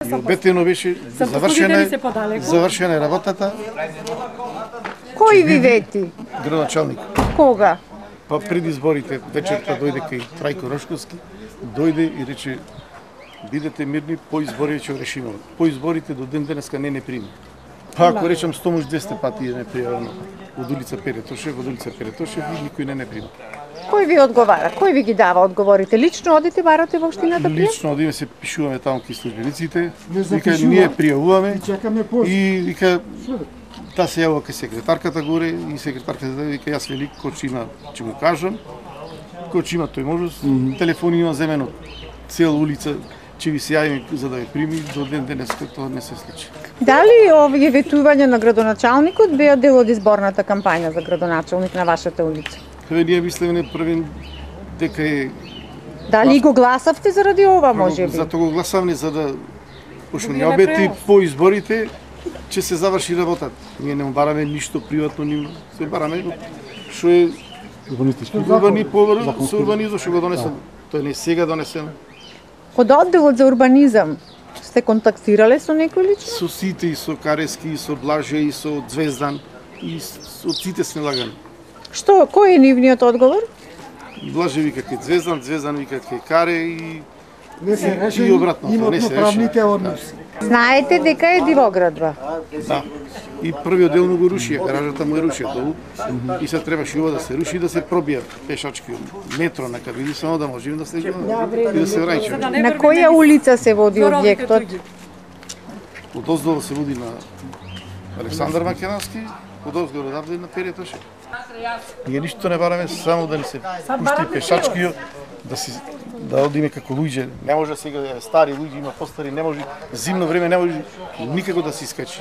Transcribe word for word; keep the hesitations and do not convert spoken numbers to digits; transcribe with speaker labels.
Speaker 1: Обетено беше завршена, завршена е работата.
Speaker 2: Кој ви вети?
Speaker 1: Градоначалник.
Speaker 2: Кога?
Speaker 1: Па пред изборите вечерта дојде кај Трајко Рашковски, дојде и рече: бидете мирни, по избори ќе решиме. По изборите до ден денеска не не прими. Па ако речам сто може двесте пати е непријавено од улица Перетошев, од улица Перетошев и никој не не прима.
Speaker 2: Кој ви одговара? Кој ви ги дава одговорите? Лично одите барате во општината Пријеп?
Speaker 1: Лично одиме се пишуваме таму кај службениците, вика ние пријавуваме и вика та се јавува кај секретарката горе и секретарката вика јас велик кој ќе има ќе му кажам, кој ќе има тој можност, телефони има земено цела улица ќе ви се јавим за да ви прими, до ден денеска тоа не се случи.
Speaker 2: Дали овие ветувања на градоначалникот беа дел од изборната кампања за градоначалник на вашата улица?
Speaker 1: Еве ние мислиме не првен дека е.
Speaker 2: Дали го гласавте заради ова, можеби?
Speaker 1: Затоа го гласавме за да пошто ни обети по изборите ќе се заврши работата. Ние не бараме ништо приватно, нимо се бараме што е урбанистички. Урбани поврз, со урбанизм што го донесен. Тој не сега донесен.
Speaker 2: Од одделот за урбанизам сте контактирале со некој лично?
Speaker 1: Со сите, и со Карески, и со Блаже, и со Звездан, и со сите сме лагани.
Speaker 2: Што, кој е нивниот одговор?
Speaker 1: Блаже вика кај Звездан, Звездан вика кај Каре и
Speaker 3: не се реши,
Speaker 1: и обратно, не се
Speaker 3: правните односи.
Speaker 2: Знаете дека е дивоградба?
Speaker 1: Да. И првиот дел му го рушија, гаражата му е рушија долу и се требаше ова да се руши и да се пробија пешачки метро на кабини само да можеме да се и да се враќаме.
Speaker 2: На која улица се води објектот?
Speaker 1: Одоздолу се води на Александар Македонски, одозгоре одавде на Перетошев. Ние ништо не бараме, само да ни се пушти пешачки, да си да одиме како луѓе. Не може сега стари луѓе, има постари, не може зимно време не може никако да се искачи.